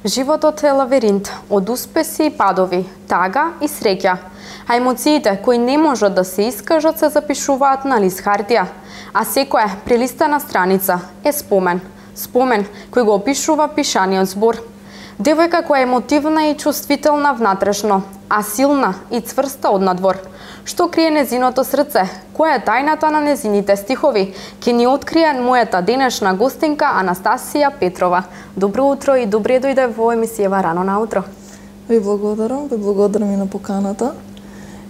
Животот е лавиринт од успеси и падови, тага и среќа. А емоциите кои не можат да се искажат се запишуваат на лист хартија, а секоја прелистана страница е спомен. Спомен кој го опишува пишаниот збор. Девојка која е емотивна и чувствителна внатрешно, а силна и цврста однадвор. Што крие незиното срце? Која е тајната на незините стихови? Ке ни открие мојата денешна гостинка Анастасија Петрова. Добро утро и добре дојде во емисијава Рано наутро. Ви благодарам и на поканата.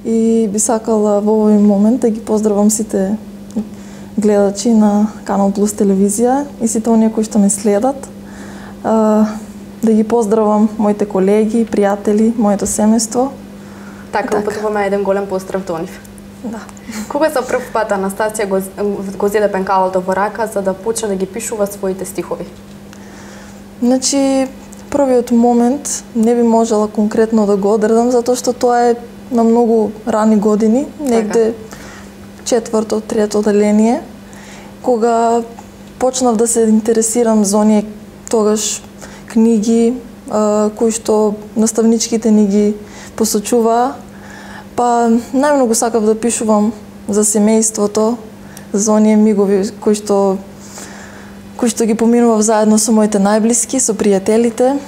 И би сакала во овој момент да ги поздравам сите гледачи на Канал Плюс телевизија и сите оние кои што ме следат. Да ги поздравам моите колеги, пријатели, моето семејство. Така, упатуваме еден голем поздрав до нив. Да. Кога за прв пат Анастасија го зеде пенкалото во рака за да почне да ги пишува своите стихови? Значи, првиот момент не би можела конкретно да го одредам, затоа што тоа е на многу рани години, негде четврто, трето оделение, кога почнав да се интересирам за оние тогаш книги кои што наставничките ни ги посочуваа, па најмногу сакав да пишувам за семејството, за оние мигови кои што ги поминував заедно со моите најблиски, со пријателите.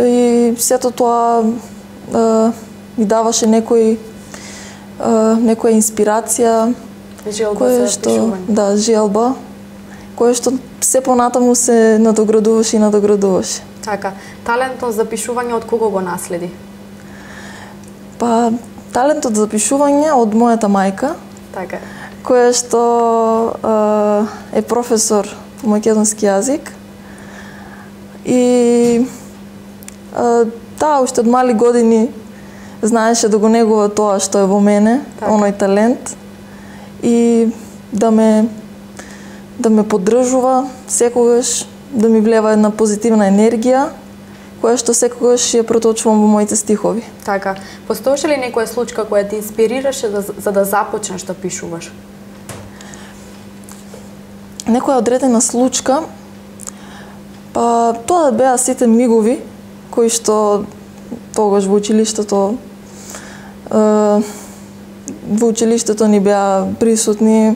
И сето тоа ми даваше некоја инспирација, Желба за пишување. Да, желба, која што се понатаму се надоградуваше. Така, талентот за пишување од кого го наследи? Па, талентот за пишување од мојата мајка, Така. која што е професор по македонски јазик. И таа уште од мали години знаеше да го негува тоа што е во мене, така, оној талент, и да ме поддржува секогаш, да ми влева една позитивна енергија, која што секогаш ја проточувам во моите стихови. Така, постоеше ли некоја случка која те инспирираше за да започнеш да пишуваш? Некоја одредена случка, па тоа беа сите мигови кои што тогаш во училиштето ни беа присутни,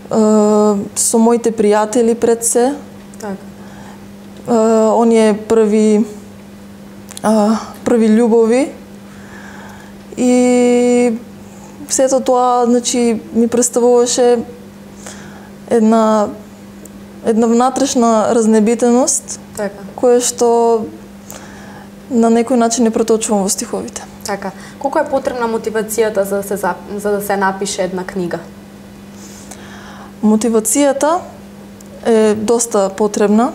со моите пријатели пред се. Така. Оние први љубови и сето тоа, значи, ми представуваше една внатрешна разнебитеност, така, која што на некој начин не проточувам во стиховите. Така. Колку е потребна мотивацијата за да се напише една книга? Мотивацијата е доста потребна,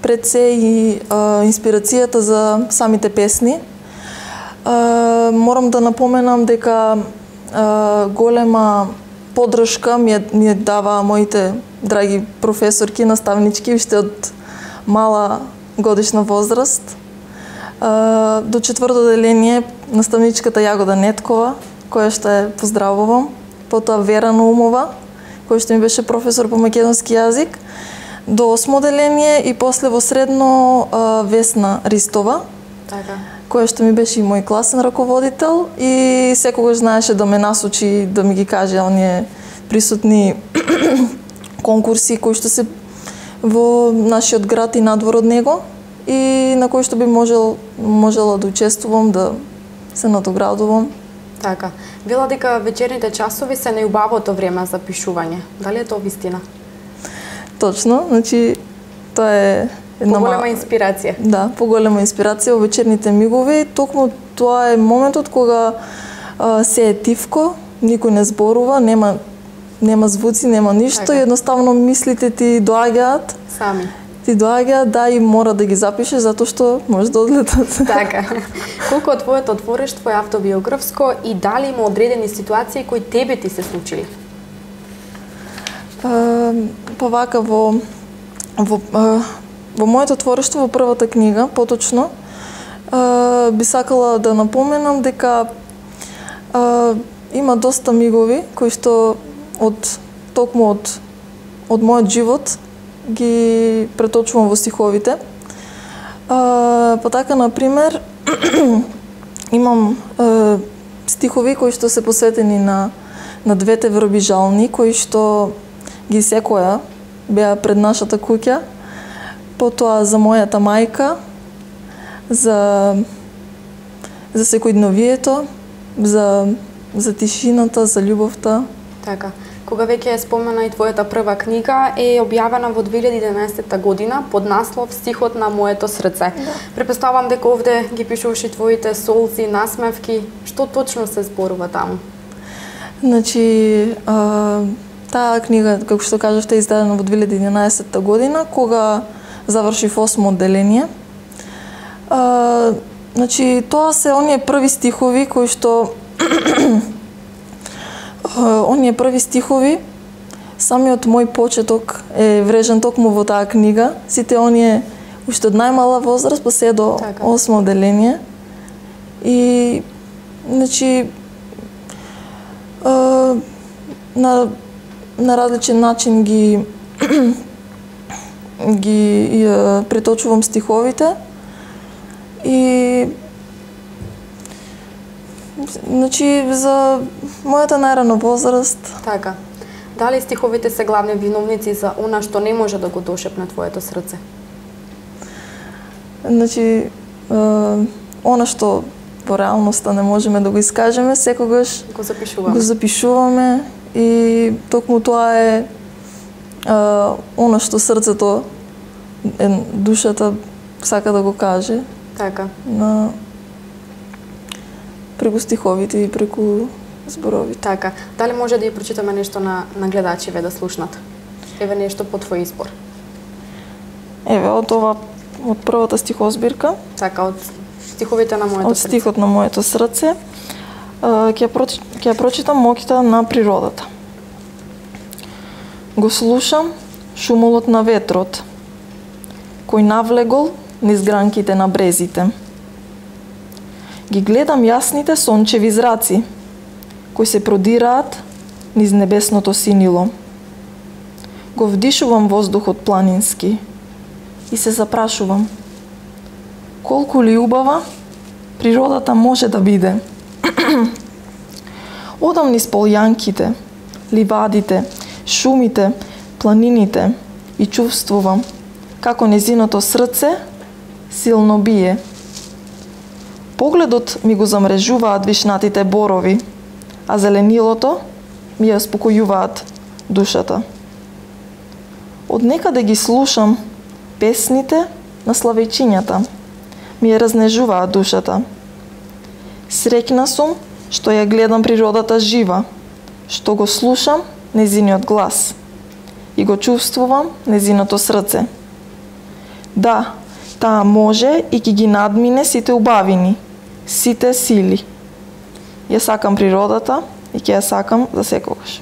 пред се и инспирацијата за самите песни. Морам да напоменам дека голема поддршка ми ја дава моите драги професорки, наставнички, уште од мала годишна возраст. До четврто оделение наставничката Јагода Неткова, која што е поздравувам, потоа Вера Наумова, кој што ми беше професор по македонски јазик, до 8 оделение и после во средно Весна Ристова, така, која што ми беше и мој класен раководител и секогаш знаеше да ме насочи, да ми ги каже оние присутни конкурси кои што се во нашиот град и надвор од него и на кои што би можела да учествувам, да се надоградувам. Така. Вела дека вечерните часови се најубавото време за пишување. Дали е тоа вистина? Точно, значи тоа е една поголема инспирација. Да, поголема инспирација во вечерните мигови. Токму тоа е моментот кога се е тивко, никој не зборува, нема звуци, нема ништо, така, едноставно мислите ти доаѓаат. Сами. Ти доаѓаат, да, и мора да ги запишеш затоа што може да одлетат. Така. Колку од твоето творештво е автобиографско и дали има одредени ситуации кои тебе ти се случили? Па вака во моето творештво, во првата книга, поточно, би сакала да напоменам дека има доста мигови кои што токму од мојот живот ги преточувам во стиховите. Па така, например, имам стихови кои што се посветени на двете врби жални, кои што ги секоја беа пред нашата куќа, потоа за мојата мајка, за секојдневието, за тишината, за љубовта. Така. Кога веќе е спомена и твојата прва книга, е објавена во 2011 година под наслов Стихот на моето срце. Да. Препоставам дека овде ги пишуваш и твоите солзи, насмевки. Што точно се зборува таму? Значи, таа книга, како што кажавте, е издадена во 2011 година, кога завршив 8 одделение. Значи, тоа се оние први стихови кои што самиот мој почеток е врежен токму во таа книга. Сите оние уште од најмала возраст па се до 8 одделение. И значи на различен начин ги преточувам стиховите и значи за мојата најрана возраст. Така. Дали стиховите се главни виновници за она што не може да го дошепне твоето срце? Значи, она што во реалноста не можеме да го искажеме, секогаш го запишуваме и токму тоа е она што срцето, душата сака да го каже. Така. Преку стиховите и преку зборовите. Така. Дали може да ја прочитаме нешто на гледачиве да слушнат? Еве нешто по твој избор. Еве, од првата стихозбирка. Така, од стиховите на моето срце. Од стихот на моето срце. Ќе ја прочитам Моќта на природата. Го слушам шумолот на ветрот, кој навлегол низ гранките на брезите. Ги гледам јасните сончеви зраци, кои се продираат низ небесното синило. Го вдишувам воздухот планински и се запрашувам колку ли убава природата може да биде. Одам низ полјанките, ливадите, шумите, планините и чувствувам како незиното срце силно бие. Погледот ми го замрежуваат вишнатите борови, а зеленилото ми ја спокојуваат душата. Од некаде ги слушам песните на славејчињата, ми ја разнежуваат душата. Среќна сум што ја гледам природата жива, што го слушам незиниот глас и го чувствувам незиното срце. Да, таа може и ќе ги надмине сите убавини, сите сили. Ја сакам природата и ќе ја сакам за секогаш.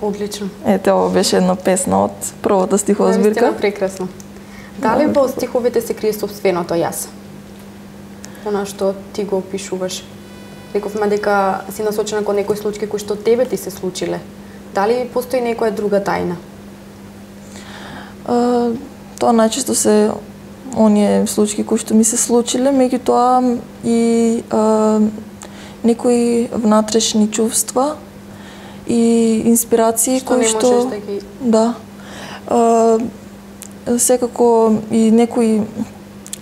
Одлично. Ете, ова беше една песна од првата стихозбирка. Наистина прекрасно. Дали во стиховите се крие собственото јас? Она што ти го опишуваш. Рековме дека си насочена кон некои случаи кои што тебе ти се случиле. Дали постои некоја друга тајна? Тоа најчесто се оние случаи кои што ми се случиле, меѓутоа и некои внатрешни чувства и инспирации кои што не можеш да ги... Да. Секако и некои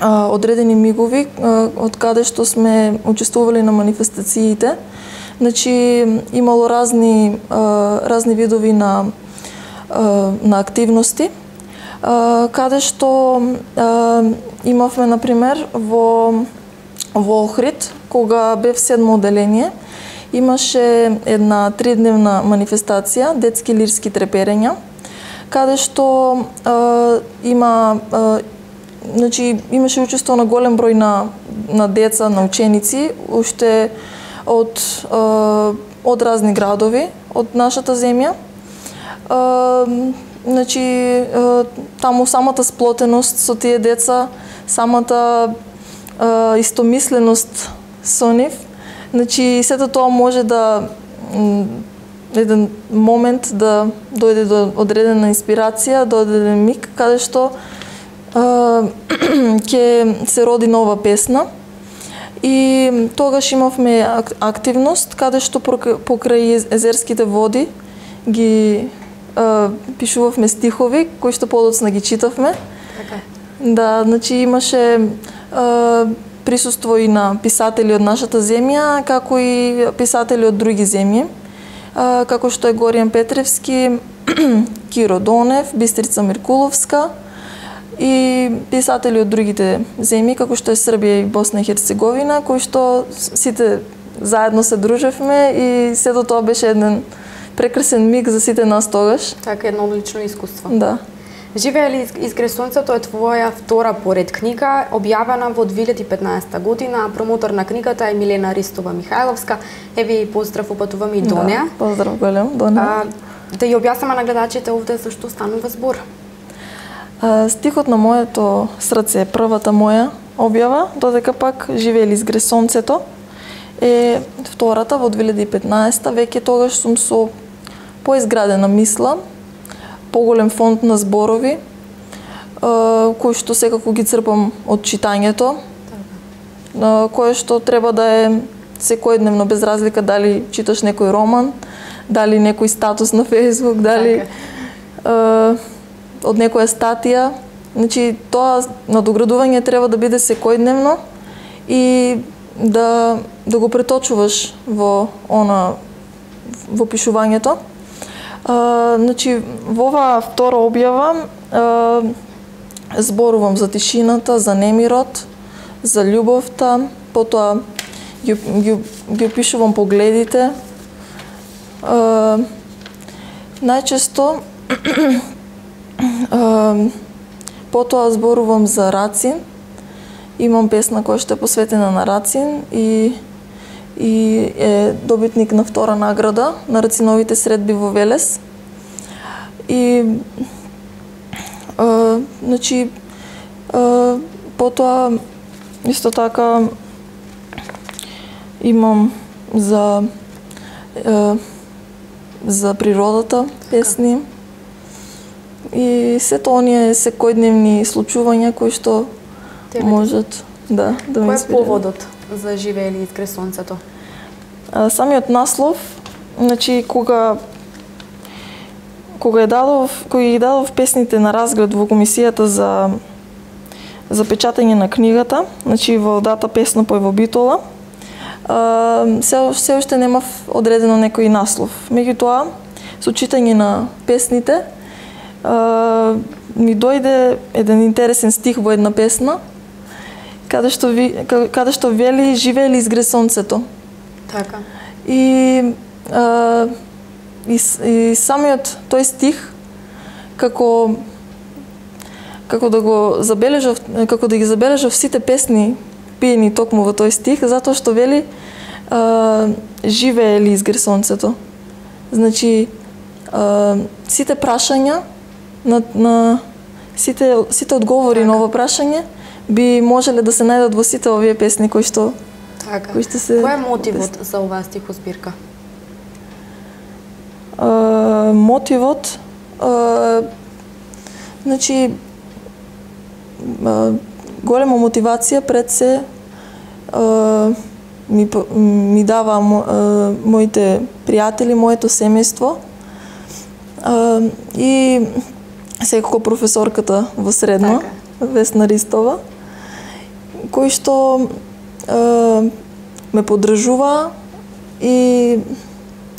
одредени мигови од каде што сме учествували на манифестациите. Значи имало разни видови на активности, каде што имавме, например, во Охрид, кога бев 7 одделение, имаше една 3-дневна манифестација, детски лирски треперења, каде што значи имаше учество на голем број на деца, на ученици, уште од разни градови од нашата земја. Значи таму самата сплотеност со тие деца, самата истомисленост со нив, значи сето тоа може да еден момент да дојде до одредена инспирација, до одреден миг каде што ќе се роди нова песна. И тогаш имавме активност каде што покрај езерските води ги пишувавме стихови кои што подоцна ги читавме. Така. Да, значи имаше присуство и на писатели од нашата земја, како и писатели од други земји, како што е Горијан Петревски, Киро Донев, Бистрица Миркуловска и писатели од другите земји, како што е Србија и Босна и Херцеговина, кои што сите заедно се дружевме и сето тоа беше еден прекрасен миг за сите нас тогаш. Така, едно одлично искуство. Да. Живее изгре сонцето е твоја втора поред книга, објавена во 2015 година. Промотор на книгата е Милена Ристова Михајловска. Еве и поздрав упатуваме и до неа. Да, поздрав голем до неа. Да ја објаснеме на гледачите овде зашто станува збор. Стихот на моето срце е првата моја објава, додека пак Живее изгре сонцето е втората во 2015. Веќе тогаш сум со поизградена мисла, поголем фонд на зборови, кои што секако ги црпам од читањето, кое што треба да е секојдневно, без разлика дали читаш некој роман, дали некој статус на Facebook, дали од некоја статија. Значи, тоа надоградување треба да биде секојдневно и да го преточуваш во пишувањето. Значи, во оваа втора објава зборувам за тишината, за немирот, за љубовта, потоа ги опишувам погледите. Најчесто потоа зборувам за Рацин. Имам песна која што е посветена на Рацин и е добитник на втора награда на Рациновите средби во Велес. И значи потоа исто така имам за природата песни и сето оние секојдневни случувања кои што можат да ме инспирираат. Кој е поводот за Живее изгре сонцето? Самиот наслов, значи кога ги дадов песните на разглед во комисијата за печатање на книгата, значи во дата Песнопој во Битола, се уште немав одредено некој наслов. Меѓутоа, со читање на песните, ми дојде еден интересен стих во една песна, каде што вели Живее изгре сонцето. Така. И самиот тој стих како да ги забележав сите песни пиени токму во тој стих, затоа што вели Живее изгре сонцето. Значи сите прашања на сите одговори на ова прашање би можеле да се најдат во сите овие песни кои што Така. се... Кој е мотивот за оваа стихозбирка? Мотивот, значи, голема мотивација пред се ми дава моите пријатели, моето семејство и секако професорката во средно, Весна Ристова, кој што ме поддржува и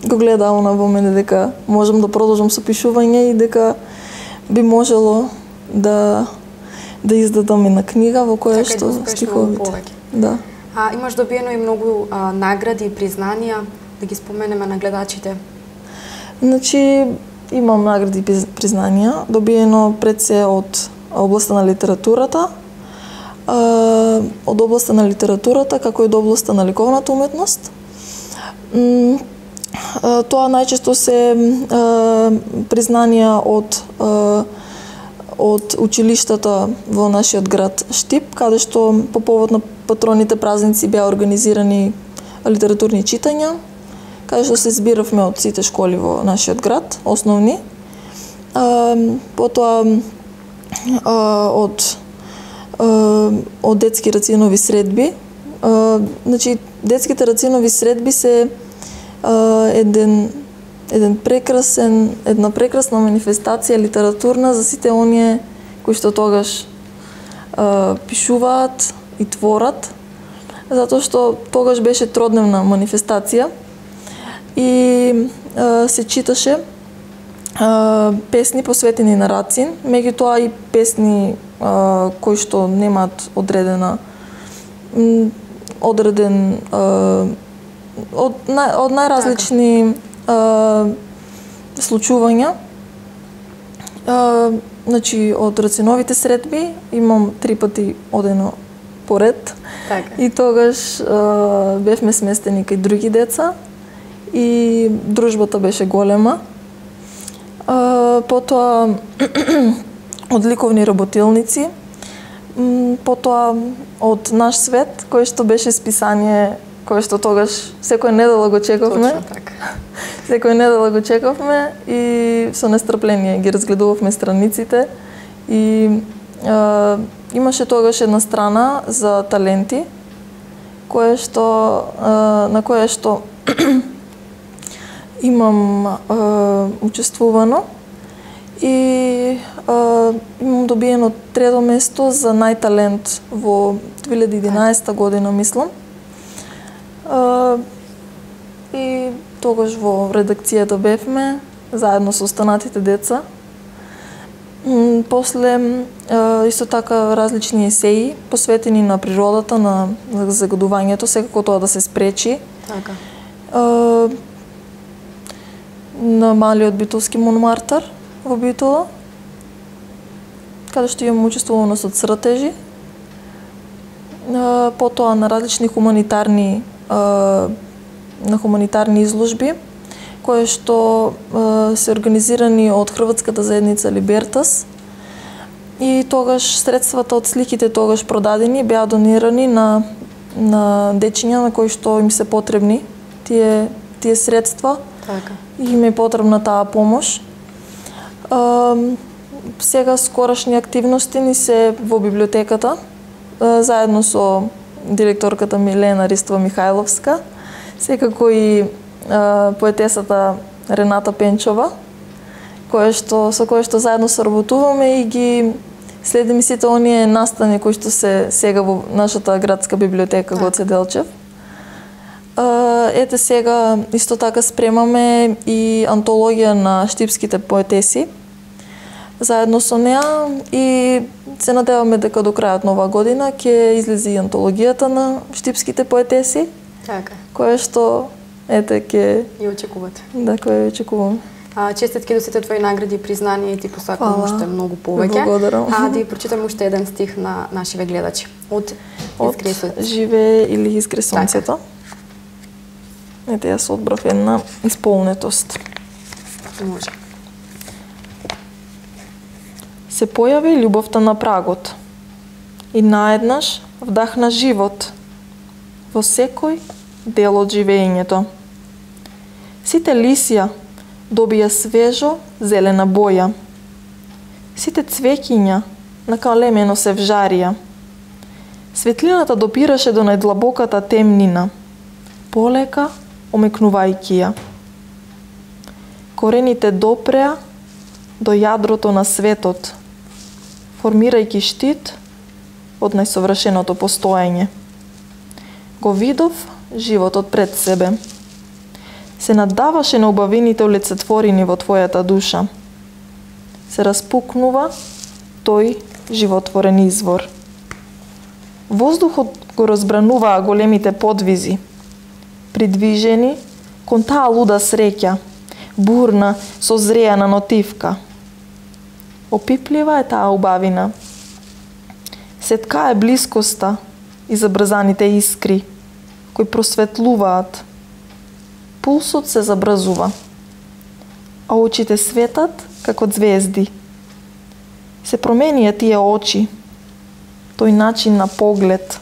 го гледа она во мене дека можам да продолжам со пишување и дека би можело да издадам една книга во која што стиховите. Да. Имаш добиено и многу награди и признанија, да ги споменеме на гледачите. Значи, имам награди и признанија, добиено пред се од областа на литературата, како и од областа на ликовната уметност. Тоа најчесто се признанија од училиштата во нашиот град Штип, каде што по повод на патроните празници беа организирани литературни читања, каде што се збиравме од сите школи во нашиот град, основни. Потоа од детски рацинови средби. Значи, детските рацинови средби се една прекрасна манифестација литературна за сите оние кои што тогаш пишуваат и творат, затоа што тогаш беше тродневна манифестација и се читаше песни посветени на Рацин, меѓутоа и песни кои што немаат од најразлични случувања. Значи, од Рациновите средби имам 3 пати одено поред. И тогаш бевме сместени кај други деца и дружбата беше голема. Потоа од ликовни работилници, потоа од Наш свет, кој што беше списание кој што тогаш секоја недела го чекавме. Точно така. Секоја недела го чекавме и со нестрпление ги разгледувавме страниците и имаше тогаш една страна за таленти на која што имам учествувано и имам добиено 3-то место за најталент во 2011 година, мислам. И тогаш во редакцијата бевме заедно со останатите деца. После исто така различни есеи посветени на природата, на загадувањето, секако тоа да се спречи. Така. На малиот битолски Монмартар во Битола, каде што имам учествувано со цртежи. Потоа на различни хуманитарни изложби, кои што се организирани од Хрватската заедница Либертас. И тогаш средствата од сликите тогаш продадени беа донирани на дечиња на кои што им се потребни тие средства. Така. И им е потребна таа помош. Сега скорошни активности ни се во библиотеката, заедно со директорката Милена Ристова Михајловска, секако и поетесата Рената Пенчова, со која што заедно соработуваме и ги следиме сите оние настани кои што се сега во нашата градска библиотека Гоце Делчев. Ете сега исто така спремаме и антологија на штипските поетеси заедно со неа и се надеваме дека до крајот на оваа година ќе излезе и антологијата на штипските поетеси. Така. Која што ете ќе ја очекувате. Да, која ја очекуваме. Честитки до сите твои награди и признанија и ти посакувам уште многу повеќе. Благодарам. Да ја прочитам уште еден стих на нашиве гледачи. Од Изгресот. Живее или изгресонцето. Ете, јас одбрав една исполнетост. Може. Се појави љубовта на прагот и наеднаш вдахна живот во секој дел од живењето. Сите лисја добија свежо зелена боја. Сите цвеќиња накалемено се вжарија. Светлината допираше до најдлабоката темнина, полека омекнувајќи ја. Корените допреа до јадрото на светот, формирајќи штит од најсовршеното постоење. Го видов животот пред себе. Се наддаваше на убавините олицетворени во твојата душа. Се распукнува тој животворен извор. Воздухот го разбрануваа големите подвизи, придвижени кон таа луда среќа, бурна, созреана нотивка. Опиплива е таа убавина. Сетка е блискоста и забрзаните искри, кои просветлуваат. Пулсот се забрзува, а очите светат како звезди. Се променија тие очи, тој начин на поглед,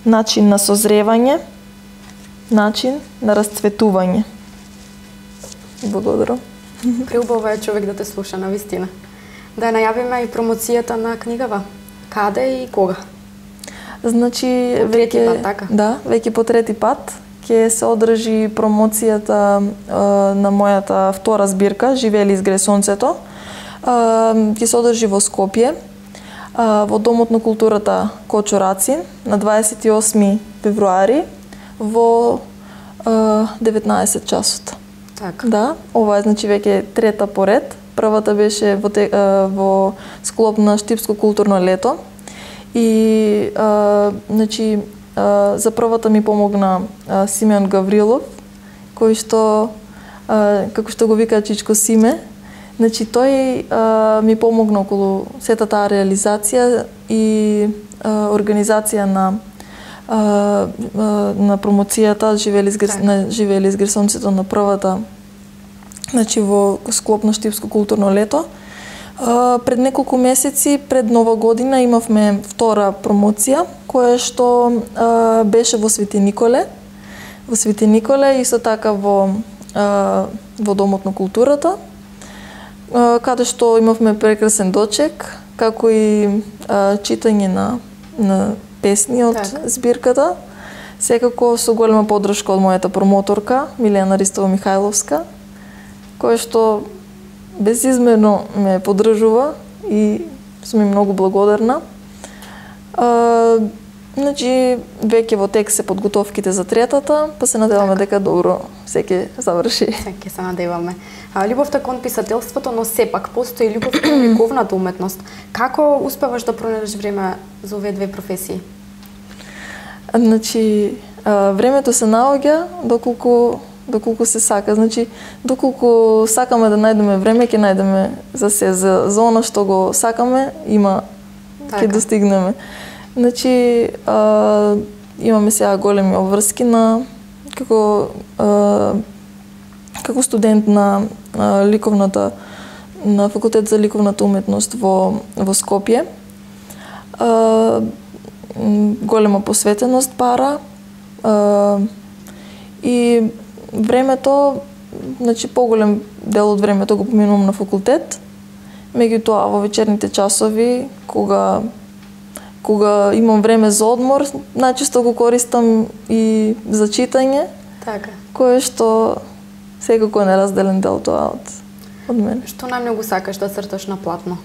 начин на созревање, начин на расцветување. Благодарам. Преубаво е човек да те слуша, навистина. Да најавиме и промоцијата на книгава. Каде и кога? Значи, трети пат, така? Да, веќе по трети пат ќе се одржи промоцијата на мојата втора збирка Живели изгре сонцето. Ќе се одржи во Скопје, во Домот на културата Кочо Рацин на 28 февруари во 19 часот. Така. Да, ова е значи веќе трета поред. Првата беше во склоп на Штипско културно лето и значи за првата ми помогна Симеон Гаврилов, кој што како што го вика Чичко Симе. Значи тој ми помогна околу сета таа реализација и организација на промоцијата Живели изгре сонцето на првата, значи во склоп на Штипско културно лето. Пред неколку месеци, пред Нова година, имавме втора промоција, која што беше во Свети Николе. Во Свети Николе, исто така во Домот на културата, каде што имавме прекрасен дочек, како и читање на песни од збирката. Секако со голема поддршка од мојата промоторка, Милена Ристова Михајловска, која што безизмерно ме поддржува и сум им многу благодарна. Значи, веќе во тек се подготовките за третата, па се надеваме дека добро се ќе заврши. Ќе се надеваме. Љубовта кон писателството, но сепак постои љубов кон ликовната уметност. Како успеваш да пронајдеш време за овие две професии? Значи, времето се наоѓа доколку се сака. Значи, доколку сакаме да најдеме време, ќе најдеме за се. За она што го сакаме, ќе достигнеме. Значи, имаме сега големи обврски како студент на факултет за ликовната уметност во Скопје. Голема посветеност пара и времето, значи поголем дел од времето го поминувам на факултет. Меѓутоа во вечерните часови, кога имам време за одмор, најчесто го користам и за читање. Така. Кое што секако е неразделен дел тоа од мене. Што најмногу сакаш да црташ на платно?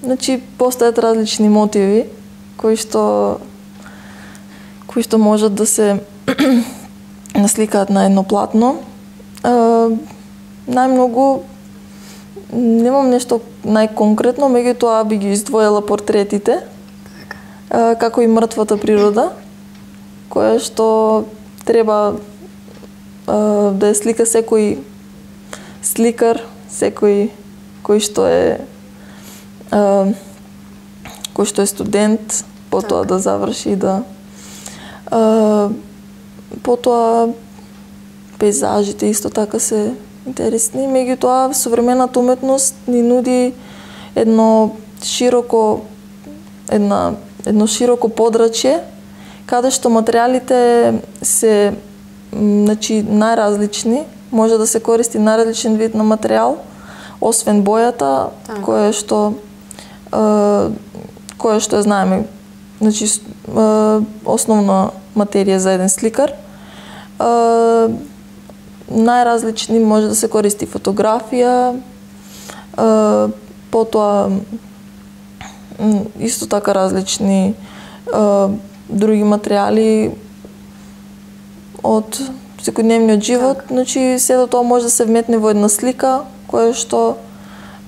Значи, постојат различни мотиви кои што можат да се насликаат на едно платно. Најмногу немам нешто најконкретно, меѓутоа би ги издвоила портретите, како и мртвата природа, која што треба да ја слика секој сликар, секој кој што е студент, потоа да заврши и да потоа пейзажите исто така се интересни, меѓутоа современата уметност ни нуди едно широко подрачје, каде што материјалите се најразлични, може да се користи најразличен вид на материјал, освен бојата, која што ја знаеме, значи основна материја за еден сликар. Најразлични може да се користи фотографија, потоа исто така различни други материјали од секојдневниот живот, значи сето тоа може да се вметне во една слика која што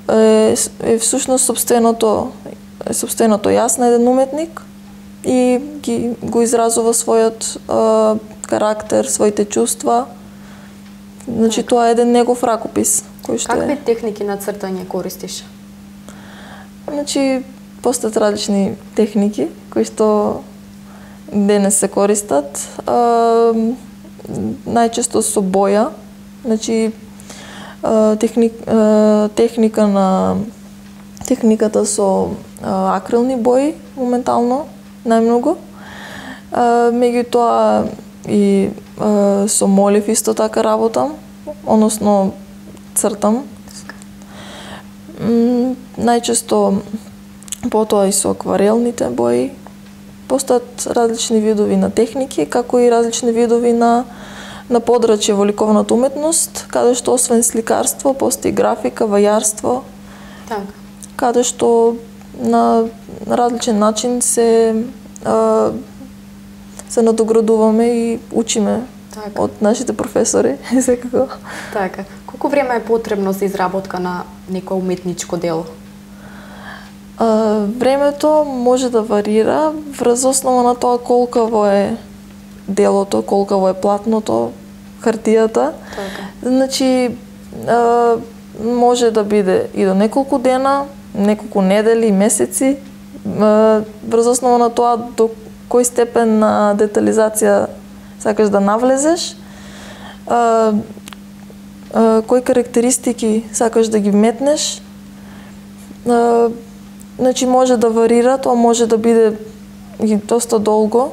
е всушност сопственото јас на еден уметник и го изразува својот карактер, своите чувства. Значи тоа е еден негов ракопис кој што Какви техники на цртање користиш? Значи постојат различни техники кои што денес се користат. Најчесто со боја, значи техниката со акрилни бои моментално најмногу. Меѓутоа и со молив исто така работам, односно цртам. Најчесто потоа и со акварелните бои. Постојат различни видови на техники, како и различни видови на подрачје во ликовната уметност, каде што освен сликарство, постои графика, вајарство, каде што на различен начин се надоградуваме и учиме од нашите професори, секако. Така. Колку време е потребно за изработка на некое уметничко дело? Времето може да варира врз основа на тоа колкаво е делото, колкаво е платното, хартијата. Значи, може да биде и до неколку дена, неколку недели, месеци, врз основа на тоа до кој степен на детализација сакаш да навлезеш, кои карактеристики сакаш да ги вметнеш. Значи, може да варира, тоа може да биде и доста долго,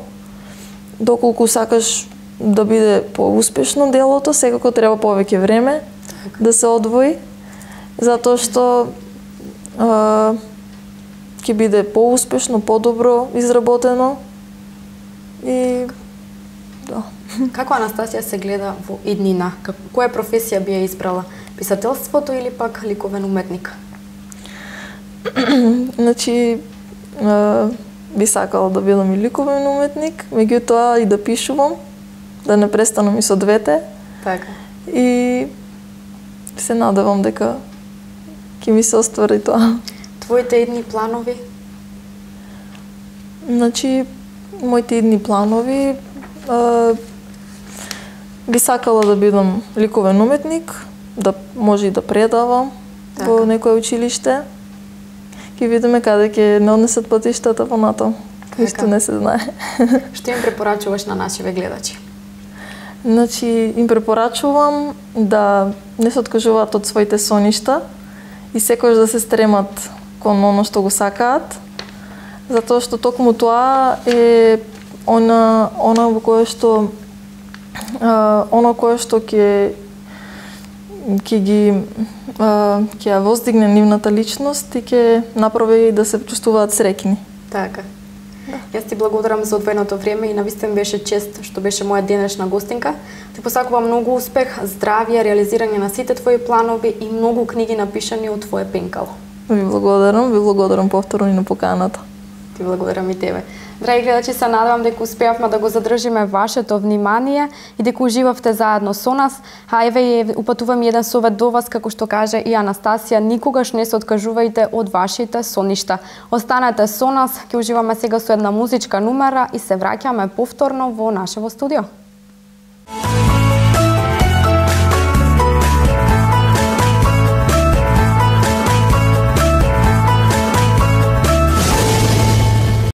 доколку сакаш да биде поуспешно делото, секако треба повеќе време да се одвои, затоа што ќе биде поуспешно, подобро изработено и да. Како Анастасија се гледа во иднина? Која професија би ја избрала? Писателството или пак ликовен уметник? Значи, би сакала да бидам и ликовен уметник, меѓутоа и да пишувам, да не престанам и со двете. Така. И се надевам дека ќе ми се оствари тоа. Твоите идни планови? Значи, моите идни планови би сакала да бидам ликовен уметник, да може и да предавам во некое училиште. Ќе видиме каде ќе не однесат патиштата понатам. Ништо не се знае. Што им препорачуваш на нашиве гледачи? Значи, им препорачувам да не се откажуваат од своите соништа и секогаш да се стремат кон оно што го сакаат, затоа што токму тоа е она во кое што ќе ја воздигне нивната личност и ќе направи да се чувствуваат среќни. Така. Јас ти благодарам за одвоеното време и навистина беше чест што беше моја денешна гостинка. Ти посакувам многу успех, здравје, реализирање на сите твои планови и многу книги напишани од твое пенкало. Ви благодарам повторно и на поканата. Ти благодарам и тебе. Драги гледачи, се надевам дека успеавме да го задржиме вашето внимание и дека уживавте заедно со нас. А еве упатувам еден совет до вас, како што каже и Анастасија, никогаш не се откажувајте од вашите соништа. Останете со нас, ќе уживаме сега со една музичка номера и се враќаме повторно во нашево студио.